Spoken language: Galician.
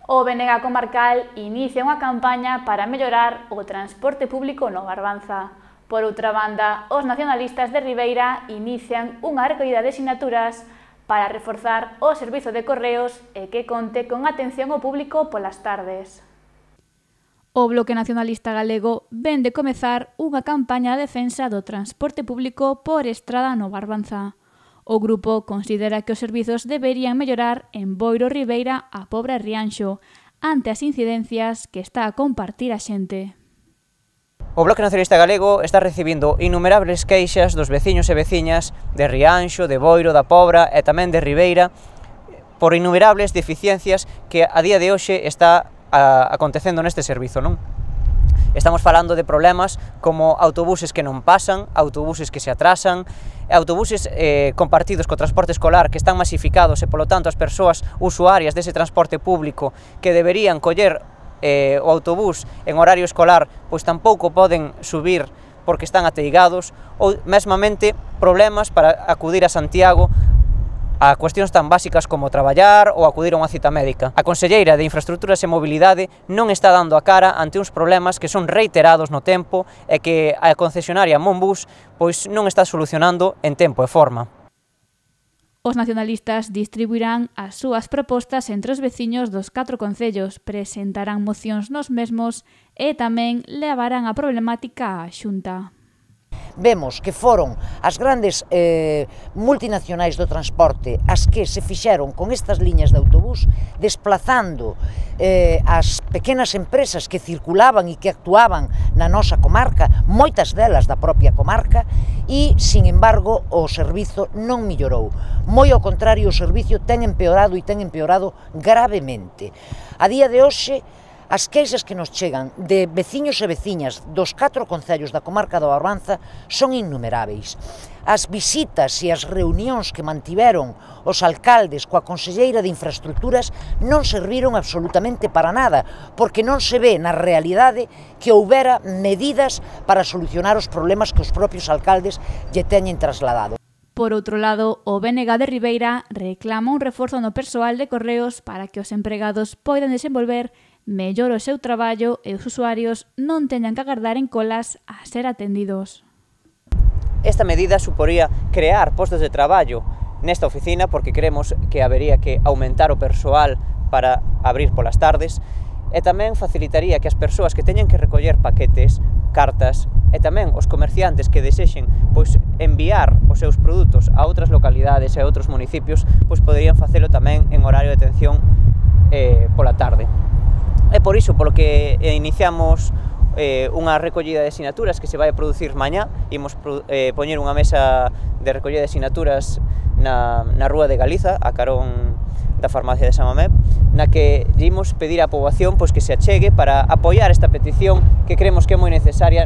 O BNG Comarcal inicia unha campaña para mellorar o transporte público no Barbanza. Por outra banda, os nacionalistas de Ribeira inician unha recollida de sinaturas para reforzar o servizo de correos e que conte con atención ao público polas tardes. O Bloque Nacionalista Galego ven de comezar unha campaña de defensa do transporte público por estrada no Barbanza. O grupo considera que os servizos deberían mellorar en Boiro, Ribeira a Pobra e Rianxo, ante as incidencias que está a compartir a xente. O Bloque Nacionalista Galego está recibindo innumerables queixas dos veciños e veciñas de Rianxo, de Boiro, da Pobra e tamén de Ribeira por innumerables deficiencias que a día de hoxe está acontecendo neste servizo, non? Estamos falando de problemas como autobuses que non pasan, autobuses que se atrasan, autobuses compartidos co transporte escolar que están masificados e, polo tanto, as persoas usuarias dese transporte público que deberían coller o autobús en horario escolar, pois tampouco poden subir porque están ateigados, ou mesmamente problemas para acudir a Santiago a cuestións tan básicas como traballar ou acudir a unha cita médica. A Conselleira de Infraestructuras e Mobilidade non está dando a cara ante uns problemas que son reiterados no tempo e que a concesionaria Monbus pois non está solucionando en tempo e forma. Os nacionalistas distribuirán as súas propostas entre os veciños dos 4 concellos, presentarán mocións nos mesmos e tamén levarán a problemática á Xunta. Vemos que foron as grandes multinacionais do transporte as que se fixeron con estas liñas de autobús, desplazando as pequenas empresas que circulaban e que actuaban na nosa comarca, moitas delas da propia comarca, e, sin embargo, o servizo non mellorou. Moi ao contrario, o servizo ten empeorado e ten empeorado gravemente. A día de hoxe, as queixas que nos chegan de veciños e veciñas dos 4 concellos da comarca do Barbanza son innumeráveis. As visitas e as reunións que mantiveron os alcaldes coa Conselleira de Infraestructuras non serviron absolutamente para nada, porque non se ve na realidade que houbera medidas para solucionar os problemas que os propios alcaldes lle teñen trasladado. Por outro lado, o BNG de Ribeira reclama un reforzo no persoal de correos para que os empregados poidan desenvolver mellor o seu traballo e os usuarios non teñan que agardar en colas a ser atendidos. Esta medida suporía crear postos de traballo nesta oficina porque creemos que habería que aumentar o persoal para abrir polas tardes e tamén facilitaría que as persoas que teñen que recoller paquetes, cartas e tamén os comerciantes que desexen pois enviar os seus produtos a outras localidades e a outros municipios pois poderían facelo tamén en horario de atención pola tarde. É por iso polo que iniciamos unha recollida de sinaturas que se vai a producir mañá. Imos poñer unha mesa de recollida de sinaturas na Rúa de Galiza, a carón da farmacia de San Mamé, na que imos pedir á poboación pois que se achegue para apoiar esta petición que creemos que é moi necesaria.